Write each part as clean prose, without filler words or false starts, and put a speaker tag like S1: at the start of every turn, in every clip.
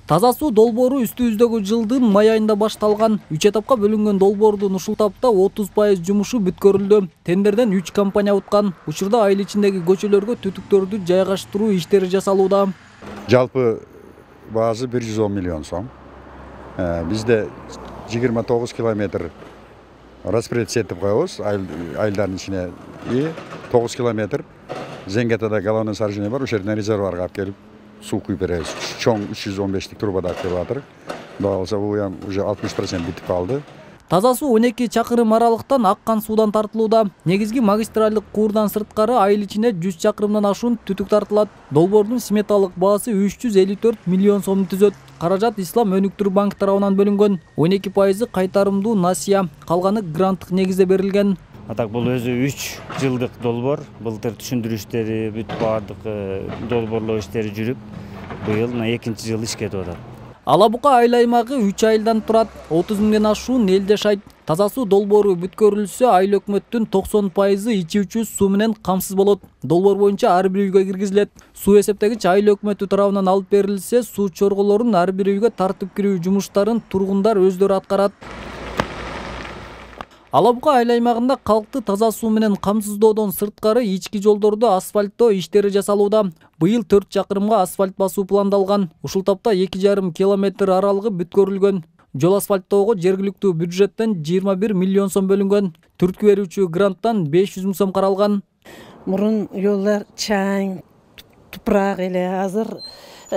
S1: Таза суу долбоору үстүбүздөгү жылдын май айында башталган. 3 этапка бөлүнгөн долбоордун ушул этапта 30% жумушу бүткөрүлдү. Тендерден 3 компания уткан. Учурда айыл ичиндеги көчөлөргө түтүктөрдү жайгаштыруу иштери жасалууда.
S2: Жалпы баасы 110 миллион сом. Бизде 29 километр распоред сетип коебуз айылдардын ичине и 9 километр Зенгетада головной сооружение бар, ошол жерден резервуарга алып келип суу куюп беребиз. Чоң 315 трубада алып келип атыр. Кудай калса бул уже 60% бүтүп калды.
S1: Таза суу 12 чакырым аралыктан аккан суудан тартылууда. Негизги магистралдык куурдан сырткары айыл ичине 100 чакырымдан ашуун түтүк тартылат. Долбоордун сметалык баасы 354 миллион сомду түзөт. Каражат Ислам өнүктүрүү банк тарабынан бөлүнгөн. 12% кайтарымдуу насыя, калганы гранттык негизде берилген.
S3: Атак бул өзү 3 жылдык долбоор. Былтыр түшүндүрүү иштери бүт баардык долбоорлоо иштери жүрүп, быйыл 2-чи жыл ишке кетип атат.
S1: Ала Бука айыл аймагы 3 айылдан турат. 30 миңден ашуун эл жашайт. Таза суу долбоору бүткөрүлсө, айыл өкмөттүн 90% ичүүчү суу менен камсыз болот. Долбоор боюнча ар бир үйгө киргизилет. Суу эсептегич айыл өкмөтү тарабынан алып берилсе, суу чорголорун ар бир үйгө тартып кирүү жумуштарын тургундар өздөрү аткарат. Ала Бука айыл аймагында калкты таза суу менен камсыздоодон сырткары ички жолдорду асфальттоо иштери жасалууда. Быйыл 4 чакырымга асфальт басуу пландалган. Ушул тапта 2,5 километр аралыгы бүткөрүлгөн. Жол асфальттоого жергиликтүү бюджеттен 21 миллион сом бөлүнгөн. Түрткү берүүчү гранттан 500 миң сом каралган.
S4: Мурун жолдор чаң, тупурак эле, азыр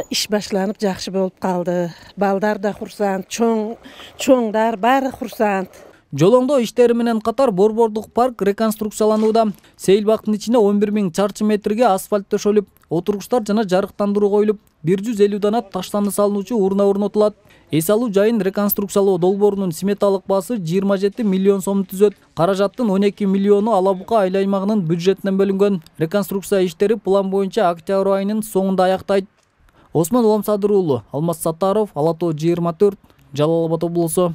S4: иш башланып жакшы болуп калды. Балдар да курсант, чоңдар баары курсант.
S1: Жолоңдоо иштери менен катар борбордук парк реконструкцияланууда. Сейил бактын ичине 11 миң чарчы метрге асфальт төшөлүп, отургучтар жана жарыктандыруу коюлуп, 150 дана таштанды салынуучу урна орнотулат. Эс алуу жайын реконструкциялоо долбоорунун сметалык баасы 27 миллион сом түзөт. Каражаттын 12 миллиону Ала Бука айыл аймагынын бюджетинен бөлүнгөн. Реконструкция иштери план боюнча октябрь айынын соңунда аяктайт. Осмон Уламсадыр уулу, Алмаз Саттаров, Ала Тоо 24, Жалал Абад облусу.